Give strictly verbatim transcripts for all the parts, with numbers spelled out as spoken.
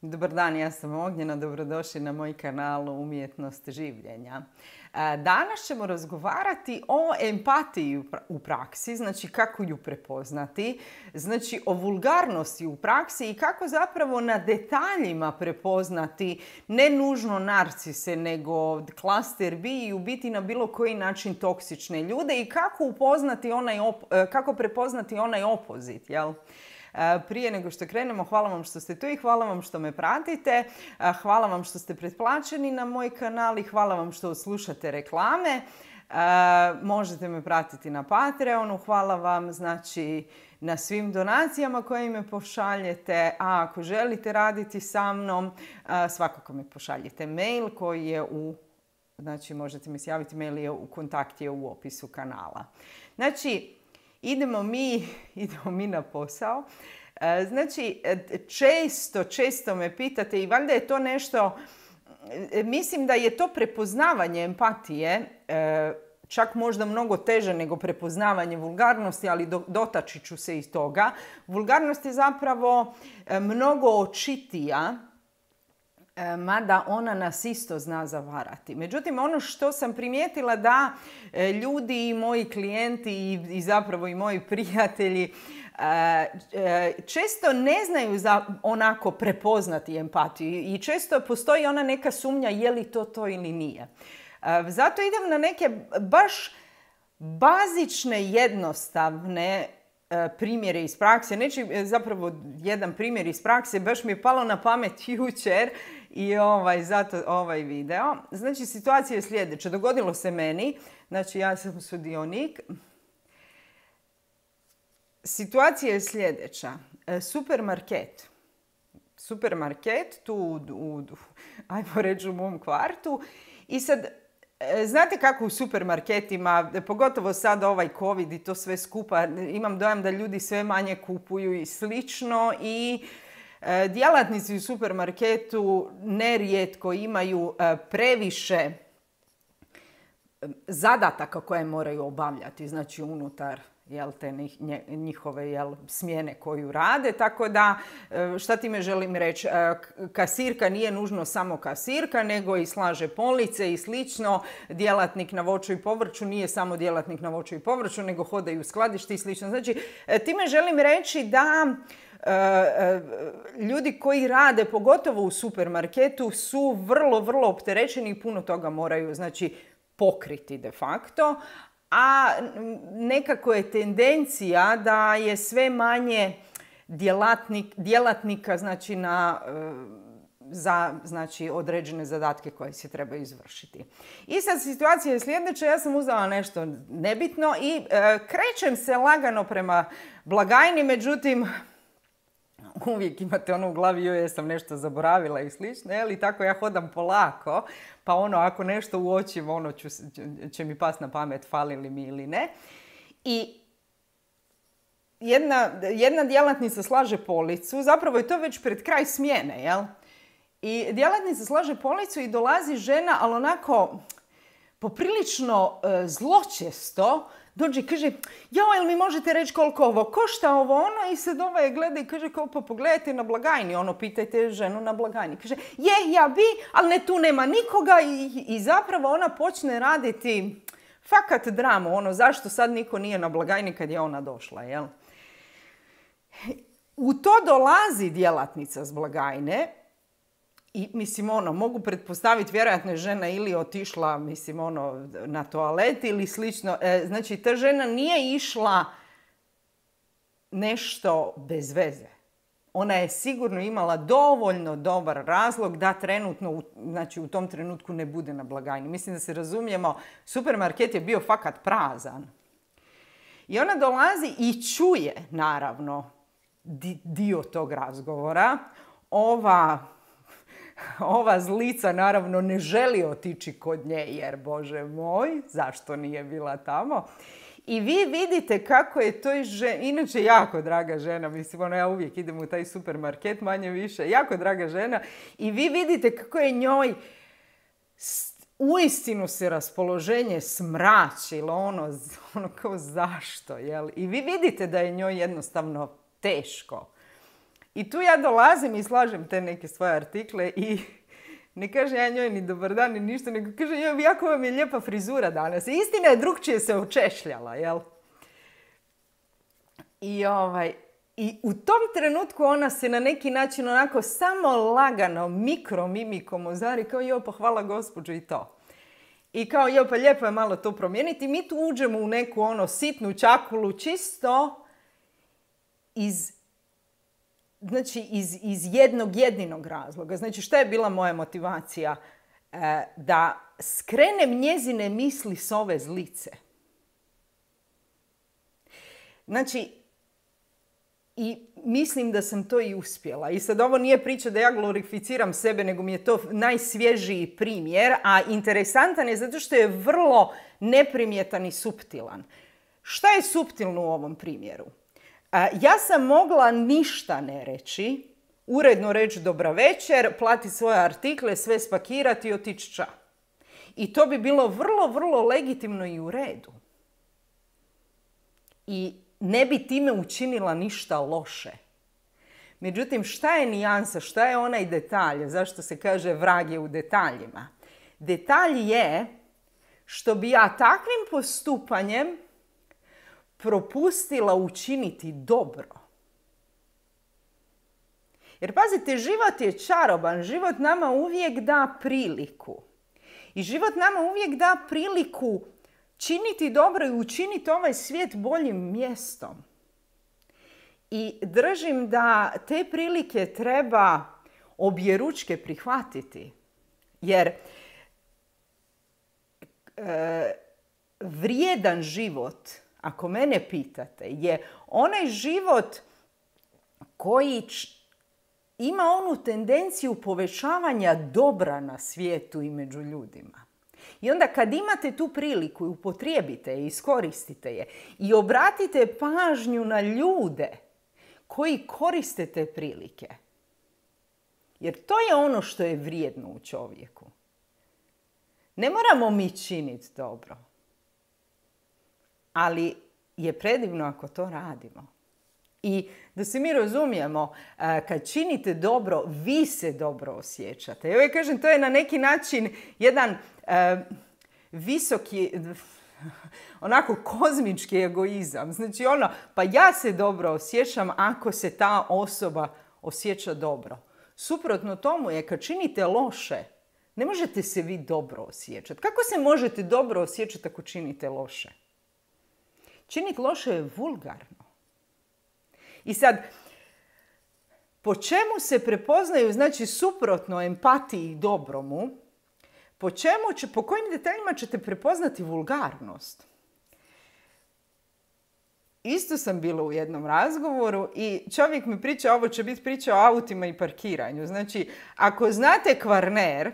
Dobar dan, ja sam Ognjena, dobrodošli na moj kanal Umjetnost življenja. Danas ćemo razgovarati o empatiji u praksi, znači kako ju prepoznati, znači o vulgarnosti u praksi i kako zapravo na detaljima prepoznati ne nužno narcise, nego klaster B i u biti na bilo koji način toksične ljude i kako upoznati onaj op- kako prepoznati onaj opozit, jel? Prije nego što krenemo, hvala vam što ste tu i hvala vam što me pratite. Hvala vam što ste pretplaćeni na moj kanal i hvala vam što slušate reklame. Možete me pratiti na Patreonu. Hvala vam znači na svim donacijama koje me pošaljete. A ako želite raditi sa mnom, svakako mi pošaljite mail koji je u, znači možete mi se javiti, mail je u kontakt je u opisu kanala. Znači, Idemo mi, idemo mi na posao. Znači, često, često me pitate i valjda je to nešto, mislim da je to prepoznavanje empatije, čak možda mnogo teže nego prepoznavanje vulgarnosti, ali dotaći ću se i toga. Vulgarnost je zapravo mnogo očitija, mada ona nas isto zna zavarati. Međutim, ono što sam primijetila da ljudi i moji klijenti i zapravo i moji prijatelji često ne znaju za onako prepoznati empatiju i često postoji ona neka sumnja je li to to ili nije. Zato idem na neke baš bazične, jednostavne primjere iz prakse. Neću, zapravo jedan primjer iz prakse, baš mi je palo na pamet jučer i ovaj, zato ovaj video. Znači, situacija je sljedeća. Dogodilo se meni, znači ja sam sudionik. Situacija je sljedeća. Supermarket. Supermarket tu, u, u, ajmo reći u mom kvartu. I sad, znate kako u supermarketima, pogotovo sad ovaj COVID i to sve skupa, imam dojam da ljudi sve manje kupuju i slično i e, djelatnici u supermarketu nerijetko imaju e, previše zadataka koje moraju obavljati, znači unutar jel, te njihove jel, smjene koju rade. Tako da, šta time želim reći? Kasirka nije nužno samo kasirka, nego i slaže police i slično. Djelatnik na voću i povrću nije samo djelatnik na voću i povrću, nego hodaju u skladišti i slično. Znači, time želim reći da ljudi koji rade, pogotovo u supermarketu, su vrlo, vrlo opterećeni i puno toga moraju, znači, pokriti de facto. A nekako je tendencija da je sve manje djelatnik, djelatnika znači na, za znači, određene zadatke koje se treba izvršiti. I sad situacija je sljedeća, ja sam uzela nešto nebitno i e, krećem se lagano prema blagajni, međutim uvijek imate ono u glavi, joj, jesam nešto zaboravila i slično, jel? I tako ja hodam polako, pa ono, ako nešto uočim, ono ću, će mi past na pamet, fali li mi ili ne. I jedna, jedna djelatnica slaže policu, zapravo je to već pred kraj smjene, jel? I djelatnica slaže policu i dolazi žena, ali onako poprilično e, zločesto, dođe i kaže, jao, jel mi možete reći koliko ovo košta, ovo ono? I sad ovaj gleda i kaže, kao, pa pogledajte na blagajni, ono, pitajte ženu na blagajni. Kaže, je, ja bi, ali ne, tu nema nikoga i, i zapravo ona počne raditi fakat dramu, ono, zašto sad niko nije na blagajni kad je ona došla, jel? U to dolazi djelatnica s blagajne. I, mislim, ono, mogu pretpostaviti, vjerojatno je žena ili otišla, mislim, ono, na toalet ili slično. E, znači, ta žena nije išla nešto bez veze. Ona je sigurno imala dovoljno dobar razlog da trenutno, u, znači, u tom trenutku ne bude na blagajni. Mislim da se razumijemo, supermarket je bio fakat prazan. I ona dolazi i čuje, naravno, di, dio tog razgovora. Ova... Ova zlica naravno ne želi otići kod nje jer, Bože moj, zašto nije bila tamo? I vi vidite kako je to žena, inače jako draga žena, mislim, ono, ja uvijek idem u taj supermarket, manje više, jako draga žena. I vi vidite kako je njoj uistinu se raspoloženje smračilo, ono, ono kao zašto, jel? I vi vidite da je njoj jednostavno teško. I tu ja dolazim i slažem te neke svoje artikle i ne kaže ja njoj ni dobar dan ni ništa, nego kaže joj, jako vam je lijepa frizura danas. I istina je, drugčije se očešljala, jel? I, ovaj, I u tom trenutku ona se na neki način onako samo lagano, mikromimikom ozari kao joj, pa hvala gospođo i to. I kao joj, pa lijepo je malo to promijeniti. Mi tu uđemo u neku ono sitnu čakulu čisto iz, znači, iz, iz jednog jedinog razloga. Znači, šta je bila moja motivacija? E, da skrenem njezine misli s ove zlice. Znači, i mislim da sam to i uspjela. I sad ovo nije priča da ja glorificiram sebe, nego mi je to najsvježiji primjer, a interesantan je zato što je vrlo neprimjetan i suptilan. Šta je suptilno u ovom primjeru? Ja sam mogla ništa ne reći, uredno reći dobra večer, plati svoje artikle, sve spakirati i otići ća. I to bi bilo vrlo, vrlo legitimno i u redu. I ne bi time učinila ništa loše. Međutim, šta je nijansa, šta je onaj detalj? Zašto se kaže vrag je u detaljima? Detalj je što bi ja takvim postupanjem propustila učiniti dobro. Jer pazite, život je čaroban, život nama uvijek da priliku. I život nama uvijek da priliku činiti dobro i učiniti ovaj svijet boljim mjestom. I držim da te prilike treba objeručke prihvatiti. Jer e, vrijedan život, ako mene pitate, je onaj život koji č- ima onu tendenciju povećavanja dobra na svijetu i među ljudima. I onda kad imate tu priliku, upotrijebite je, iskoristite je i obratite pažnju na ljude koji koriste te prilike. Jer to je ono što je vrijedno u čovjeku. Ne moramo mi činiti dobro, ali je predivno ako to radimo. I da se mi razumijemo, kad činite dobro, vi se dobro osjećate. Ja kažem, to je na neki način jedan uh, visoki, onako kozmički egoizam. Znači ono, pa ja se dobro osjećam ako se ta osoba osjeća dobro. Suprotno tomu je kad činite loše, ne možete se vi dobro osjećati. Kako se možete dobro osjećati ako činite loše? Činiti loše je vulgarno. I sad, po čemu se prepoznaju, znači suprotno empatiji i dobromu, po čemu će, po kojim detaljima ćete prepoznati vulgarnost? Isto sam bila u jednom razgovoru i čovjek mi priča, ovo će biti priča o autima i parkiranju. Znači, ako znate Kvarner,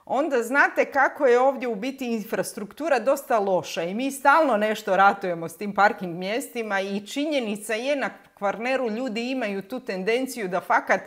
onda znate kako je ovdje u biti infrastruktura dosta loša i mi stalno nešto ratujemo s tim parking mjestima i činjenica je na Kvarneru ljudi imaju tu tendenciju da fakat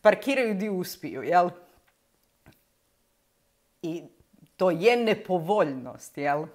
parkiraju di uspiju, jel? I to je nepovoljnost, jel?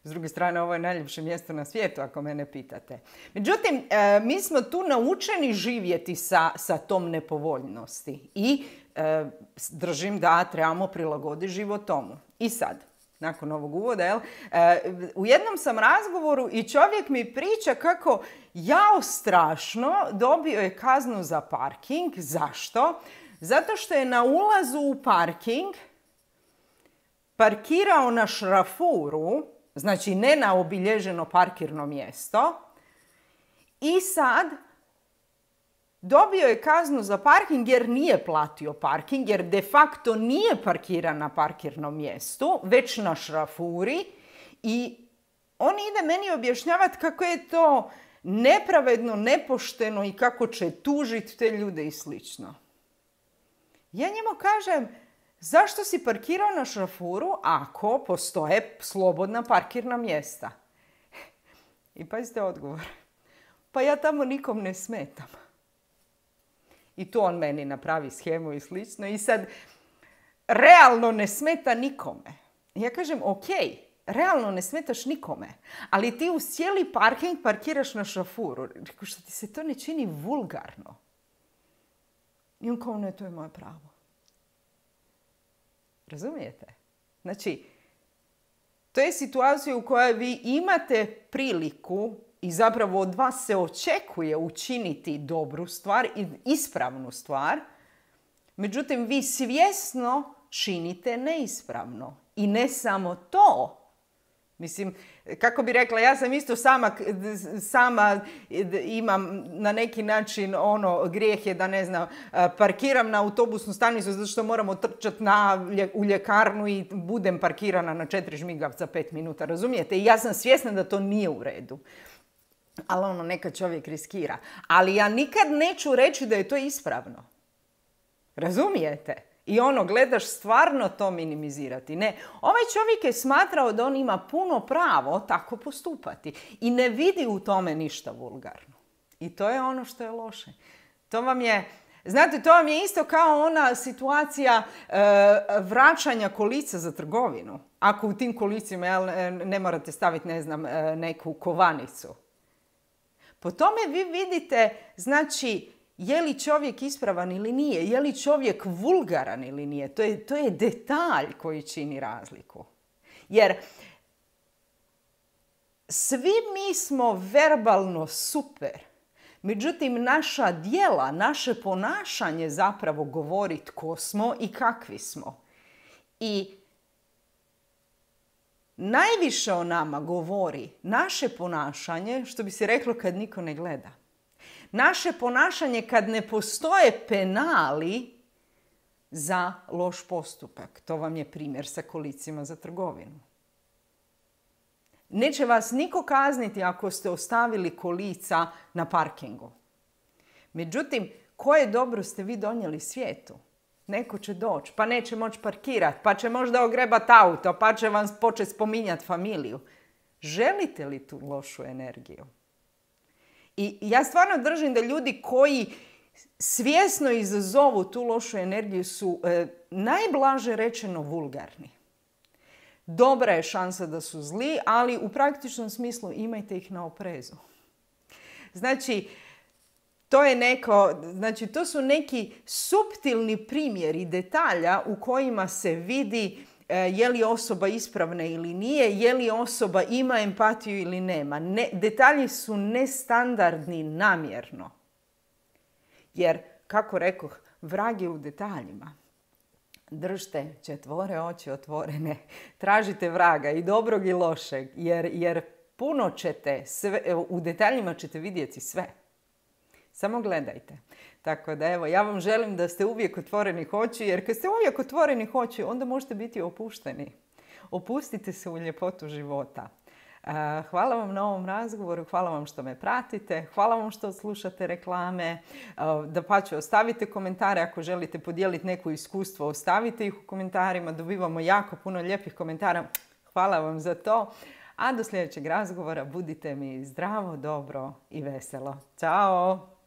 S druge strane, ovo je najljepše mjesto na svijetu, ako mene pitate. Međutim, e, mi smo tu naučeni živjeti sa, sa tom nepovoljnosti i e, držim da trebamo prilagoditi život tomu. I sad, nakon ovog uvoda, jel, e, u jednom sam razgovoru i čovjek mi priča kako jao strašno dobio je kaznu za parking. Zašto? Zato što je na ulazu u parking parkirao na šrafuru, znači ne na obilježeno parkirno mjesto, i sad dobio je kaznu za parking jer nije platio parking, jer de facto nije parkiran na parkirnom mjestu, već na šrafuri, i on ide meni objašnjavati kako je to nepravedno, nepošteno i kako će tužiti te ljude i slično. Ja njemu kažem, zašto si parkirao na šrafuru ako postoje slobodna parkirna mjesta? I pazite odgovor. Pa ja tamo nikom ne smetam. I tu on meni napravi shemu i slično. I sad, realno ne smeta nikome. Ja kažem, ok, realno ne smetaš nikome. Ali ti uz cijeli parking parkiraš na šafuru. Rekao, što ti se to ne čini vulgarno? I on kao, ne, to je moje pravo. Razumijete? Znači, to je situacija u kojoj vi imate priliku i zapravo od vas se očekuje učiniti dobru stvar i ispravnu stvar. Međutim, vi svjesno činite neispravno. I ne samo to. Mislim, kako bi rekla, ja sam isto sama, sama imam na neki način ono, grijeh je da ne znam, parkiram na autobusnu stanicu zato što moram otrčati na, u ljekarnu i budem parkirana na četiri žmigavca pet minuta, razumijete? I ja sam svjesna da to nije u redu. Ali ono, neka čovjek riskira. Ali ja nikad neću reći da je to ispravno. Razumijete? I ono, gledaš stvarno to minimizirati. Ne, ovaj čovjek je smatrao da on ima puno pravo tako postupati. I ne vidi u tome ništa vulgarno. I to je ono što je loše. To vam je, znate, to vam je isto kao ona situacija e, vraćanja kolica za trgovinu. Ako u tim kolicima jel, ne morate staviti, ne znam, neku kovanicu. Po tome vi vidite, znači, je li čovjek ispravan ili nije? Je li čovjek vulgaran ili nije? To je, to je detalj koji čini razliku. Jer svi mi smo verbalno super. Međutim, naša djela, naše ponašanje zapravo govori tko smo i kakvi smo. I najviše o nama govori naše ponašanje, što bi se reklo kad niko ne gleda. Naše ponašanje kad ne postoje penali za loš postupak. To vam je primjer sa kolicima za trgovinu. Neće vas niko kazniti ako ste ostavili kolica na parkingu. Međutim, koje dobro ste vi donijeli svijetu? Neko će doći, pa neće moći parkirati, pa će možda ogrebati auto, pa će vam početi spominjati familiju. Želite li tu lošu energiju? I ja stvarno držim da ljudi koji svjesno izazovu tu lošu energiju su e, najblaže rečeno vulgarni. Dobra je šansa da su zli, ali u praktičnom smislu imajte ih na oprezu. Znači, to je neko, znači to su neki suptilni primjeri detalja u kojima se vidi je li osoba ispravna ili nije, je li osoba ima empatiju ili nema. Ne, detalji su nestandardni namjerno. Jer, kako rekoh, vrag je u detaljima. Držite četvore oči otvorene, tražite vraga i dobrog i lošeg, jer, jer puno ćete, sve, u detaljima ćete vidjeti sve. Samo gledajte. Tako da evo, ja vam želim da ste uvijek otvorenih oči, jer kad ste uvijek otvorenih oči, onda možete biti opušteni. Opustite se u ljepotu života. Hvala vam na ovom razgovoru, hvala vam što me pratite, hvala vam što slušate reklame. Dapače, ostavite komentare ako želite podijeliti neko iskustvo, ostavite ih u komentarima, dobivamo jako puno lijepih komentara. Hvala vam za to. A do sljedećeg razgovora budite mi zdravo, dobro i veselo. Ćao!